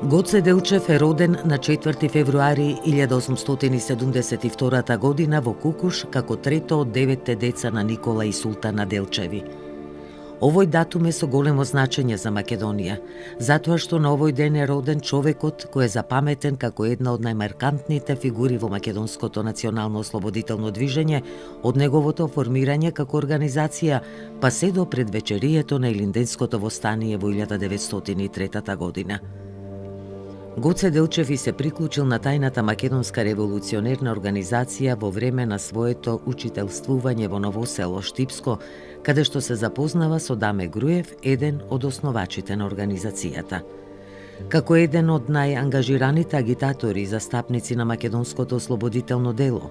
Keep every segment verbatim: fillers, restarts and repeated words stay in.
Гоце Делчев е роден на четврти февруари илјада осумстотини и седумдесет и втора година во Кукуш како трето од деветте деца на Никола и Султана Делчеви. Овој датум е со големо значење за Македонија, затоа што на овој ден е роден човекот кој е запаметен како една од најмаркантните фигури во македонското национално ослободително движење од неговото формирање како организација, па се до предвечерието на Илинденското востание во илјада деветстотини и трета година. Гоце Делчев се приклучил на тајната македонска револуционерна организација во време на своето учителствување во Ново село Штипско, каде што се запознава со Даме Груев, еден од основачите на организацијата. Како еден од најангажираните агитатори и застапници на македонското ослободително дело,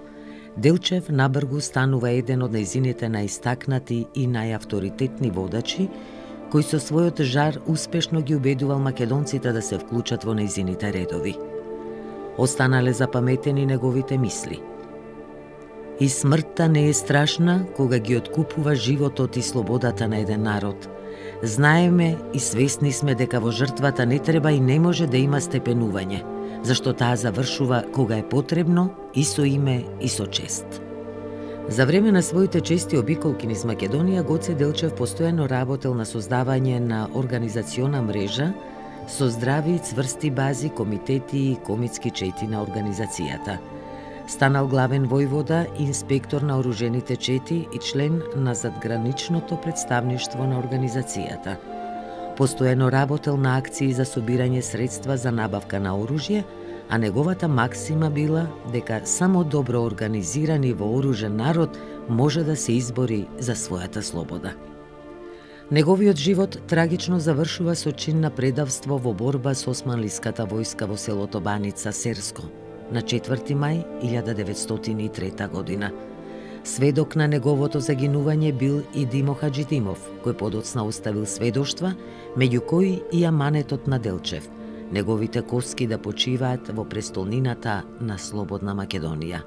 Делчев набргу станува еден од нејзините најистакнати и најавторитетни водачи, кој со својот жар успешно ги убедувал македонците да се вклучат во нејзините редови. Останале запаметени неговите мисли. И смртта не е страшна кога ги откупува животот и слободата на еден народ. Знаеме и свесни сме дека во жртвата не треба и не може да има степенување, зашто таа завршува кога е потребно и со име и со чест. За време на своите чести обиколки низ Македонија, Гоце Делчев постојано работел на создавање на организациона мрежа со здрави и цврсти бази, комитети и комитски чети на организацијата. Станал главен војвода, инспектор на оружените чети и член на задграничното представништво на организацијата. Постојано работел на акции за собирање средства за набавка на оружје, а неговата максима била дека само добро организиран и вооружен народ може да се избори за својата слобода. Неговиот живот трагично завршува со чин на предавство во борба со османлиската војска во селото Баница Серско на четврти мај илјада деветстотини и трета година. Сведок на неговото загинување бил и Димо Хаџидимов, кој подоцна оставил сведоштва, меѓу кои и аманетот на Делчев, неговите коски да почиваат во престолнината на слободна Македонија.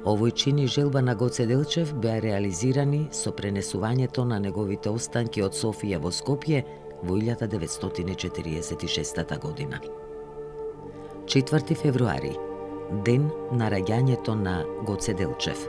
Овој чин и желба на Гоце Делчев беа реализирани со пренесувањето на неговите останки од Софија во Скопје во илјада деветстотини четириесет и шеста година. четврти февруари, ден на раѓањето на Гоце Делчев.